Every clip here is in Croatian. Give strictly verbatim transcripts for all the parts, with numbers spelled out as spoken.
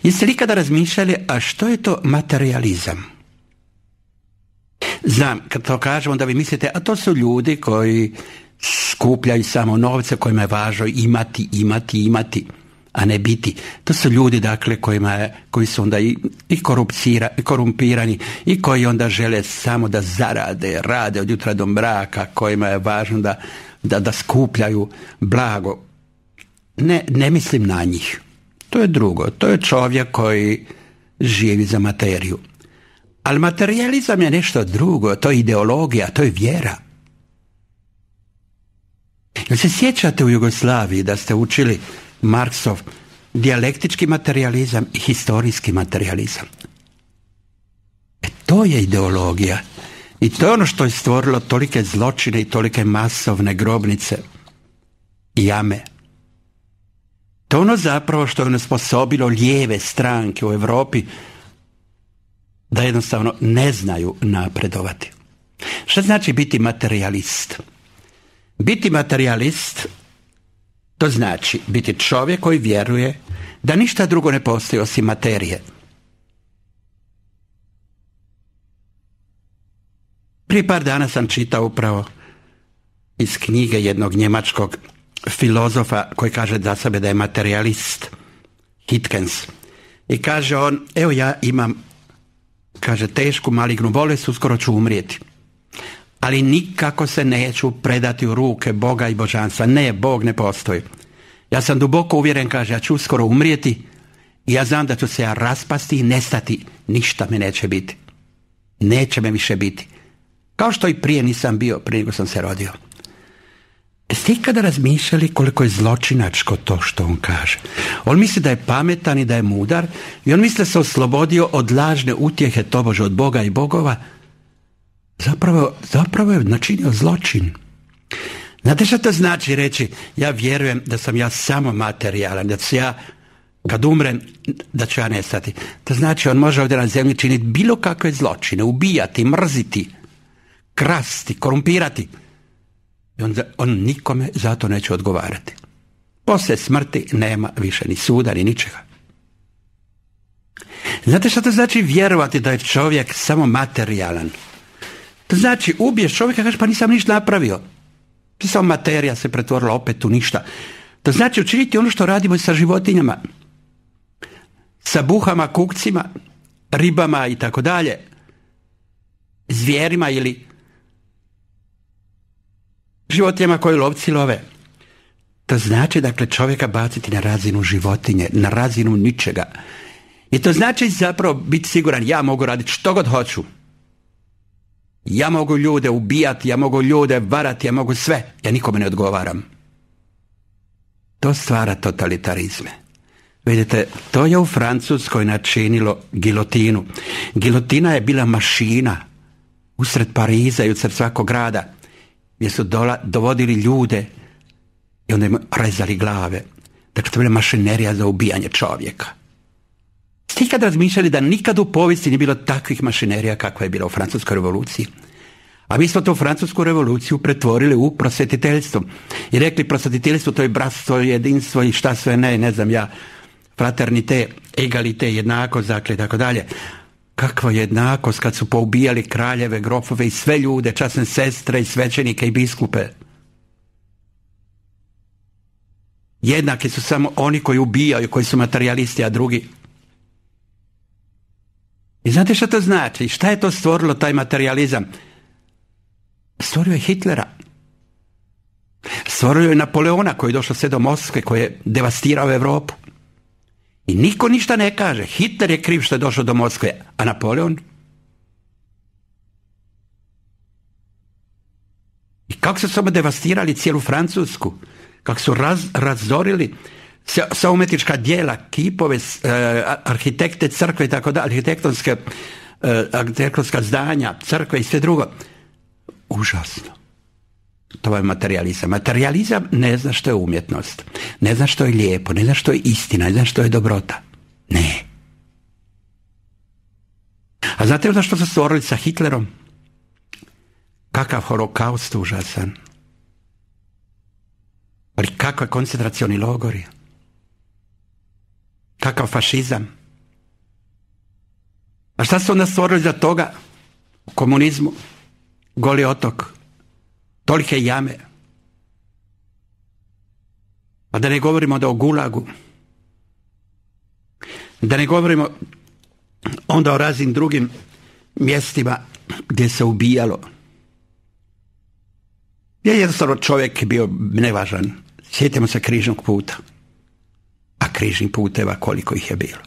Jeste li ikada razmišljali, a što je to materijalizam? Znam, kad to kažemo da vi mislite, a to su ljudi koji skupljaju samo novce, kojima je važno imati, imati, imati, a ne biti. To su ljudi, dakle, kojima je, koji su onda i, i, i korumpirani i koji onda žele samo da zarade, rade od jutra do mraka, kojima je važno da, da, da skupljaju blago. Ne, ne mislim na njih. To je drugo. To je čovjek koji živi za materiju. Ali materijalizam je nešto drugo. To je ideologija, to je vjera. Jel se sjećate u Jugoslaviji da ste učili Marksov dijalektički materijalizam i historijski materijalizam? E to je ideologija. I to je ono što je stvorilo tolike zločine i tolike masovne grobnice i jame. To je ono zapravo što je onesposobilo lijeve stranke u Europi da jednostavno ne znaju napredovati. Šta znači biti materijalist? Biti materijalist, to znači biti čovjek koji vjeruje da ništa drugo ne postoji osim materije. Prije par dana sam čitao upravo iz knjige jednog njemačkog filozofa koji kaže za sebe da je materijalist, Hitkens. I kaže on, evo ja imam, kaže, tešku malignu bolest, uskoro ću umrijeti. Ali nikako se neću predati u ruke Boga i božanstva. Ne, Bog ne postoji. Ja sam duboko uvjeren, kaže, ja ću uskoro umrijeti i ja znam da ću se ja raspasti i nestati. Ništa me neće biti. Neće me više biti. Kao što i prije nisam bio, prije nego sam se rodio. Jeste ikada razmišljali koliko je zločinačko to što on kaže? On misli da je pametan i da je mudar i on misli da se oslobodio od lažne utjehe tobože od Boga i bogova. Zapravo, zapravo je načinio zločin. Znate što to znači reći, ja vjerujem da sam ja samo materijalan, da ću ja, kad umrem, da ću ja nestati. To znači on može ovdje na zemlji činiti bilo kakve zločine, ubijati, mrziti, krasti, korumpirati. I on, on nikome za to neće odgovarati. Poslije smrti nema više ni suda, ni ničega. Znate što to znači vjerovati da je čovjek samo materijalan? To znači ubiješ čovjeka, kažeš pa nisam ništa napravio. Samo materija se pretvorila opet u ništa. To znači učiniti ono što radimo i sa životinjama. Sa buhama, kukcima, ribama i tako dalje. Zvijerima ili životinjama koje lovci love. To znači, dakle, čovjeka baciti na razinu životinje, na razinu ničega. I to znači zapravo biti siguran, ja mogu raditi što god hoću. Ja mogu ljude ubijati, ja mogu ljude varati, ja mogu sve. Ja nikome ne odgovaram. To stvara totalitarizme. Vidite, to je u Francuskoj načinilo gilotinu. Gilotina je bila mašina usred Pariza i usred svakog grada, gdje su dola, dovodili ljude i onda im rezali glave. Dakle, to je bila mašinerija za ubijanje čovjeka. Ste ikad razmišljali da nikad u povijesti nije bilo takvih mašinerija kakva je bila u Francuskoj revoluciji? A mi smo tu Francusku revoluciju pretvorili u prosvjetiteljstvo. I rekli prosvjetiteljstvo to je bratstvo, jedinstvo i šta sve ne, ne znam ja, fraternite, egalite, jednakost, dakle, i tako dalje. Kakva jednakost kad su poubijali kraljeve, grofove i sve ljude, časne sestre i svećenike i biskupe. Jednaki su samo oni koji ubijaju, koji su materijalisti, a drugi. I znate što to znači? Šta je to stvorilo, taj materijalizam? Stvorio je Hitlera. Stvorio je Napoleona koji je došao sve do Moskve, koji je devastirao Europu. I niko ništa ne kaže. Hitler je kriv što je došao do Moskve, a Napoleon? I kako su samo devastirali cijelu Francusku? Kako su raz, razorili sva umjetnička djela, kipove, eh, arhitekte, crkve i tako dalje, arhitektonske, eh, arhitektonska zdanja, crkve i sve drugo. Užasno. To je materijalizam. Materijalizam ne zna što je umjetnost. Ne zna što je lijepo, ne zna što je istina, ne zna što je dobrota. Ne. A znate li što su stvorili sa Hitlerom? Kakav holokaust užasan. Ali kakve koncentracioni logori. Kakav fašizam. A šta su onda stvorili za toga? U komunizmu, Goli otok, tolike jame. A da ne govorimo da o Gulagu, da ne govorimo onda o raznim drugim mjestima gdje se ubijalo. Je jednostavno čovjek bio nevažan. Sjetimo se križnog puta. A križnih puteva koliko ih je bilo.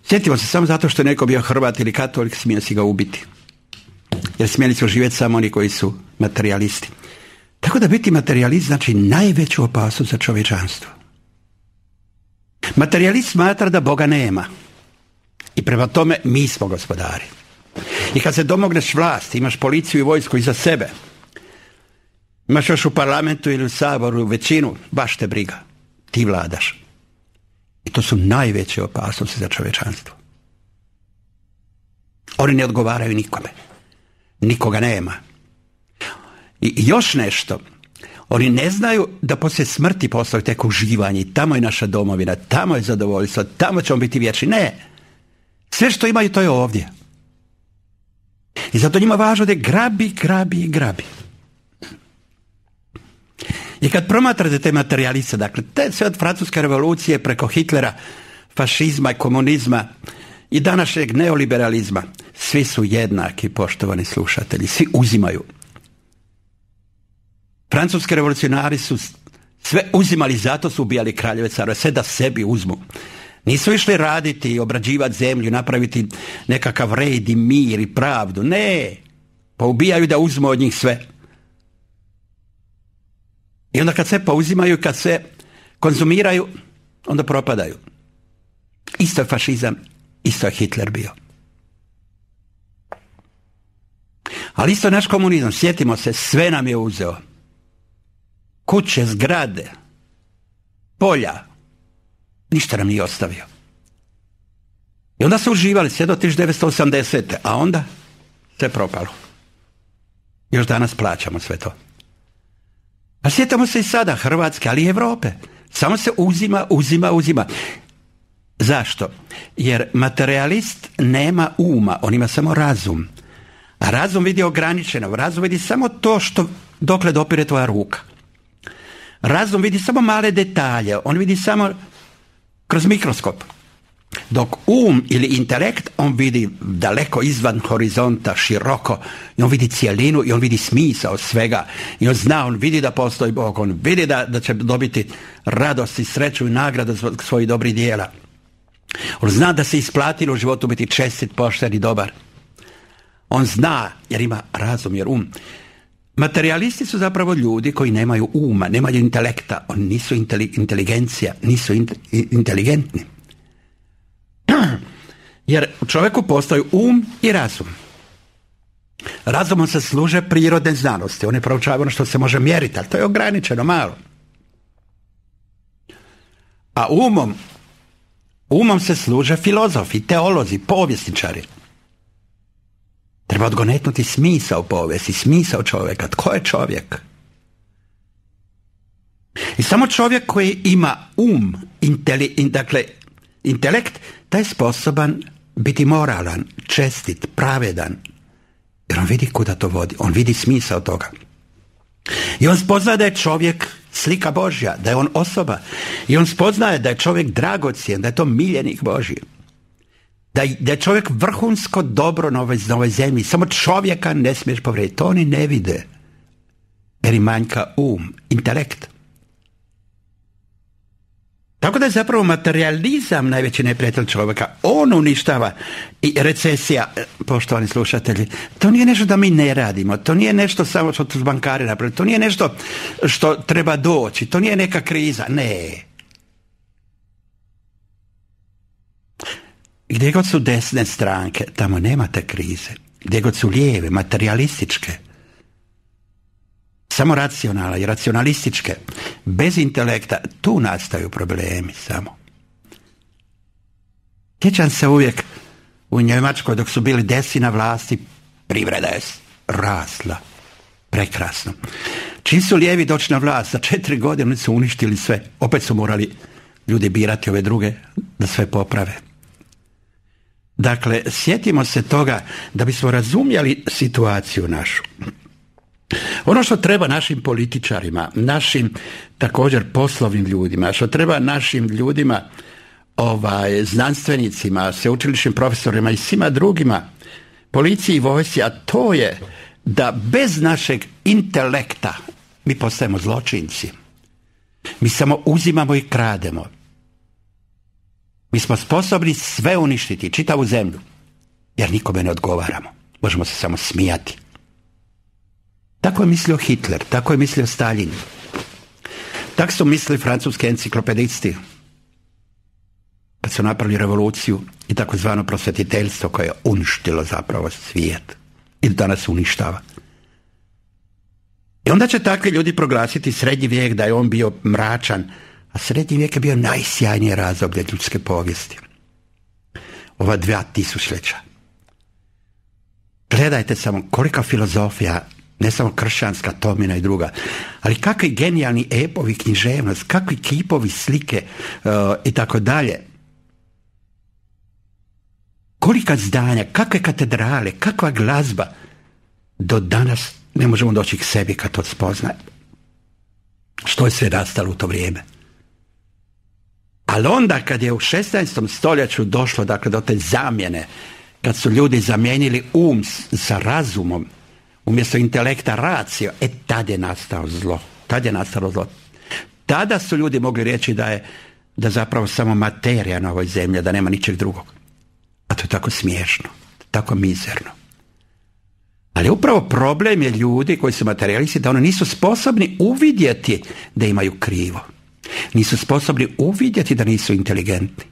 Sjetimo se samo zato što je neko bio Hrvat ili katolik, smije si ga ubiti. Jer smjeli su živjeti samo oni koji su materijalisti. Tako da biti materijalist znači najveću opasnost za čovječanstvo. Materijalist smatra da Boga nema. I prema tome mi smo gospodari. I kad se domogneš vlasti, imaš policiju i vojsku iza sebe, imaš još u parlamentu ili u saboru većinu, baš te briga. Ti vladaš. I to su najveće opasnosti za čovječanstvo. Oni ne odgovaraju nikome. Nikoga nema. I još nešto. Oni ne znaju da poslije smrti postoji tek uživanje. I tamo je naša domovina, tamo je zadovoljstvo, tamo ćemo biti vječni. Ne. Sve što imaju to je ovdje. I zato njima važno da grabi, grabi i grabi. I kad promatrate te materijaliste, dakle, te sve od francuske revolucije preko Hitlera, fašizma i komunizma i današnjeg neoliberalizma, svi su jednaki, poštovani slušatelji, svi uzimaju. Francuski revolucionari su sve uzimali, zato su ubijali kraljeve, carove, sve da sebi uzmu. Nisu išli raditi i obrađivati zemlju, napraviti nekakav red i mir i pravdu. Ne, pa ubijaju da uzmu od njih sve. I onda kad sve pouzimaju, kad sve konzumiraju, onda propadaju. Isto je fašizam, isto je Hitler bio. Ali isto je naš komunizam, sjetimo se, sve nam je uzeo. Kuće, zgrade, polja, ništa nam nije ostavio. I onda su uživali sve do tisuću devetsto osamdesete. A onda sve propalo. Još danas plaćamo sve to. A sjetamo se i sada Hrvatske, ali i Europe. Samo se uzima, uzima, uzima. Zašto? Jer materijalist nema uma, on ima samo razum. A razum vidi ograničeno. Razum vidi samo to što dokle dopire tvoja ruka. Razum vidi samo male detalje. On vidi samo kroz mikroskop. Dok um ili intelekt, on vidi daleko izvan horizonta, široko, i on vidi cijelinu i on vidi smisao svega. I on zna, on vidi da postoji Bog, on vidi da, da će dobiti radost i sreću i nagradu zbog svojih dobrih dijela. On zna da se isplatilo u životu biti čestit, pošten i dobar. On zna, jer ima razum, jer um. Materijalisti su zapravo ljudi koji nemaju uma, nemaju intelekta, oni nisu inteligencija, nisu inteligentni. Jer u čovjeku postoji um i razum. Razumom se služe prirodne znanosti. One proučavaju ono što se može mjeriti, ali to je ograničeno malo. A umom, umom se služe filozofi, teolozi, povjesničari. Treba odgonetnuti smisao povijesti, smisao čovjeka. Tko je čovjek? I samo čovjek koji ima um, inteli, in, dakle, intelekt, taj je sposoban biti moralan, čestit, pravedan. Jer on vidi kuda to vodi. On vidi smisao toga. I on spoznaje da je čovjek slika Božja, da je on osoba. I on spoznaje da je čovjek dragocjen, da je to miljenik Božji. Da, da je čovjek vrhunsko dobro na ovoj, na ovoj zemlji. Samo čovjeka ne smiješ povrijediti. To oni ne vide. Jer im manjka um, intelekt. Tako da je zapravo materijalizam najveći neprijatelj čovjeka. On uništava. I recesija, poštovani slušatelji, to nije nešto da mi ne radimo. To nije nešto samo što tu bankari napravili. To nije nešto što treba doći. To nije neka kriza. Ne. Gdje god su desne stranke, tamo nemate krize. Gdje god su lijeve, materijalističke, samo racionalne i racionalističke, bez intelekta, tu nastaju problemi samo. Sjećam se uvijek u Njemačkoj dok su bili desni na vlasti, privreda je rasla. Prekrasno. Čim su lijevi doći na vlast, za četiri godine su uništili sve. Opet su morali ljudi birati ove druge da sve poprave. Dakle, sjetimo se toga da bismo razumjeli situaciju našu. Ono što treba našim političarima, našim također poslovnim ljudima, što treba našim ljudima, ovaj, znanstvenicima, sveučilišnim profesorima i svima drugima, policiji i vojsci, a to je da bez našeg intelekta mi postajemo zločinci. Mi samo uzimamo i krademo. Mi smo sposobni sve uništiti, čitavu zemlju, jer nikome ne odgovaramo. Možemo se samo smijati. Tako je mislio Hitler, tako je mislio Stalin. Tako su mislili francuski enciklopedisti kad su napravili revoluciju i takozvano prosvjetiteljstvo koje je uništilo zapravo svijet i danas uništava. I onda će takvi ljudi proglasiti srednji vijek da je on bio mračan, a srednji vijek je bio najsjajnije razdoblje ljudske povijesti. Ova dva tisućljeća. Gledajte samo kolika filozofija, ne samo kršćanska, Tomina i druga, ali kakvi genijalni epovi, književnost, kakvi kipovi, slike uh, i tako dalje. Kolika zdanja, kakve katedrale, kakva glazba. Do danas ne možemo doći k sebi kad to spoznaje. Što je sve nastalo u to vrijeme. Ali onda kad je u šesnaestom stoljeću došlo dakle, do te zamjene, kad su ljudi zamijenili um sa razumom, umjesto intelekta racio, e tad je nastao zlo. Tad je nastalo zlo. Tada su ljudi mogli reći da je da zapravo samo materija na ovoj zemlji, da nema ničeg drugog. A to je tako smiješno, tako mizerno. Ali upravo problem je ljudi koji su materijalisti da oni nisu sposobni uvidjeti da imaju krivo. Nisu sposobni uvidjeti da nisu inteligentni.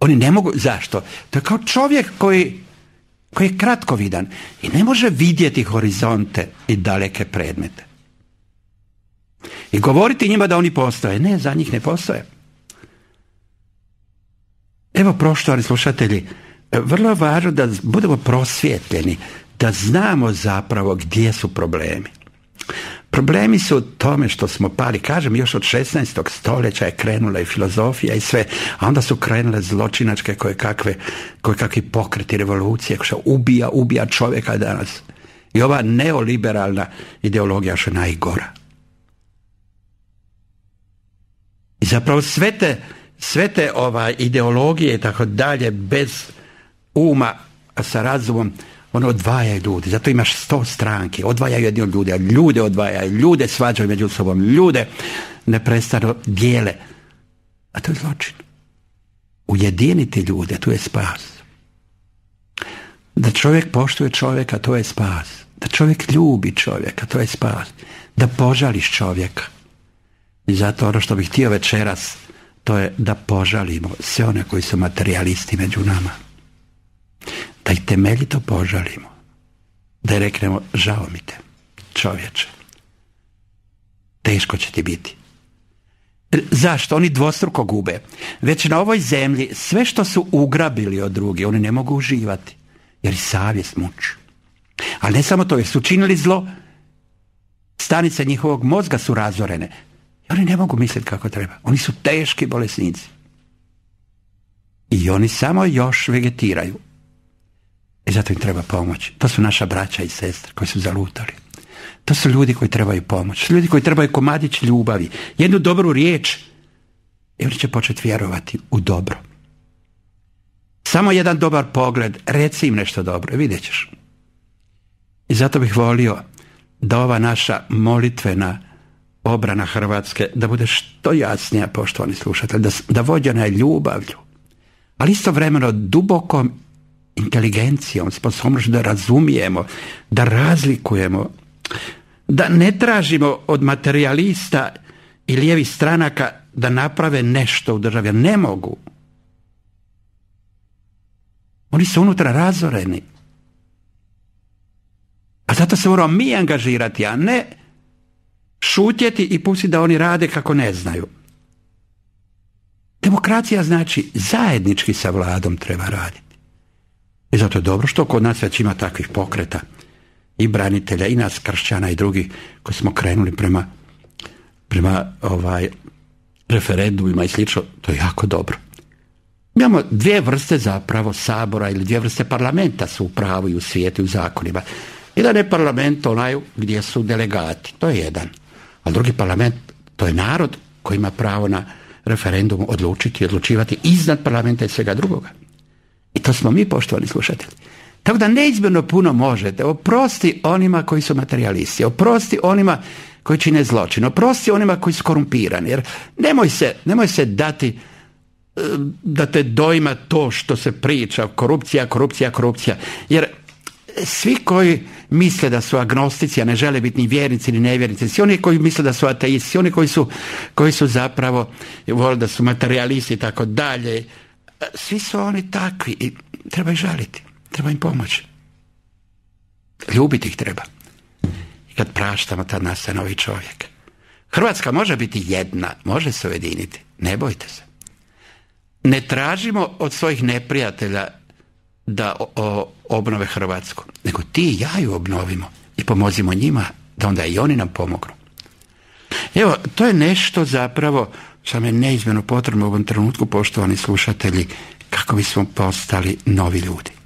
Oni ne mogu, zašto? To je kao čovjek koji, koji je kratkovidan i ne može vidjeti horizonte i daleke predmete. I govoriti njima da oni postoje. Ne, za njih ne postoje. Evo, poštovani slušatelji, vrlo je važno da budemo prosvjetljeni, da znamo zapravo gdje su problemi. Problemi su u tome što smo pali, kažem, još od šesnaestog stoljeća je krenula i filozofija i sve, a onda su krenule zločinačke koje kakve, koje kakvi pokreti revolucije, što ubija, ubija čovjeka danas. I ova neoliberalna ideologija što je najgora. I zapravo sve te, sve te ova, ideologije i tako dalje, bez uma, a sa razumom, ono odvajaju ljudi, zato imaš sto stranki, odvajaju jedni od ljudi, a ljude odvajaju, ljude svađaju među sobom, ljude neprestano dijele. A to je zločin. Ujediniti ljude, to je spas. Da čovjek poštuje čovjeka, to je spas. Da čovjek ljubi čovjeka, to je spas. Da požališ čovjeka. I zato ono što bih htio večeras, to je da požalimo sve one koji su materijalisti među nama. Da ih temeljito požalimo. Da ih reknemo, žao mi te, čovječe. Teško će ti biti. Zašto? Oni dvostruko gube. Već na ovoj zemlji sve što su ugrabili od drugih, oni ne mogu uživati. Jer i savjest muči. Ali ne samo to, jer su činili zlo, stanice njihovog mozga su razorene. I oni ne mogu misliti kako treba. Oni su teški bolesnici. I oni samo još vegetiraju. I zato im treba pomoć. To su naša braća i sestre koji su zalutali. To su ljudi koji trebaju pomoć. Ljudi koji trebaju komadić ljubavi. Jednu dobru riječ i oni će početi vjerovati u dobro. Samo jedan dobar pogled, reci im nešto dobro i vidjet ćeš. I zato bih volio da ova naša molitvena obrana Hrvatske da bude što jasnija, poštovani slušatelji, da, da vođena je ljubavlju, ali istovremeno dubokom inteligencijom, sposobnošću da razumijemo, da razlikujemo, da ne tražimo od materijalista i lijevih stranaka da naprave nešto u državi. Ne mogu. Oni su unutra razoreni. A zato se moramo mi angažirati, a ne šutjeti i pustiti da oni rade kako ne znaju. Demokracija znači zajednički sa vladom treba raditi. I zato je dobro što kod nas već ima takvih pokreta i branitelja i nas kršćana i drugih koji smo krenuli prema, prema ovaj, referendumima i slično. To je jako dobro. Imamo dvije vrste zapravo sabora ili dvije vrste parlamenta su u pravu i u svijetu i u zakonima. Jedan je parlament onaj gdje su delegati, to je jedan. A drugi parlament, to je narod koji ima pravo na referendum odlučiti i odlučivati iznad parlamenta i svega drugoga. I to smo mi, poštovani slušatelji. Tako da neizmjerno puno možete. Oprosti onima koji su materijalisti, oprosti onima koji čine zločin, oprosti onima koji su korumpirani. Jer nemoj se, nemoj se dati da te dojma to što se priča, korupcija, korupcija, korupcija. Jer svi koji misle da su agnostici, a ne žele biti ni vjernici ni nevjernici, svi oni koji misle da su ateisti, svi oni koji su, koji su zapravo vole da su materijalisti i tako dalje, svi su oni takvi i treba ih žaliti, treba im pomoći. Ljubiti ih treba. I kad praštamo, tad nastaje novi čovjek. Hrvatska može biti jedna, može se ujediniti, ne bojte se. Ne tražimo od svojih neprijatelja da o, o, obnove Hrvatsku, nego ti i ja ju obnovimo i pomozimo njima da onda i oni nam pomognu. Evo, to je nešto zapravo što nam je neizmjerno potrebno u ovom trenutku, poštovani slušatelji, kako bismo postali novi ljudi.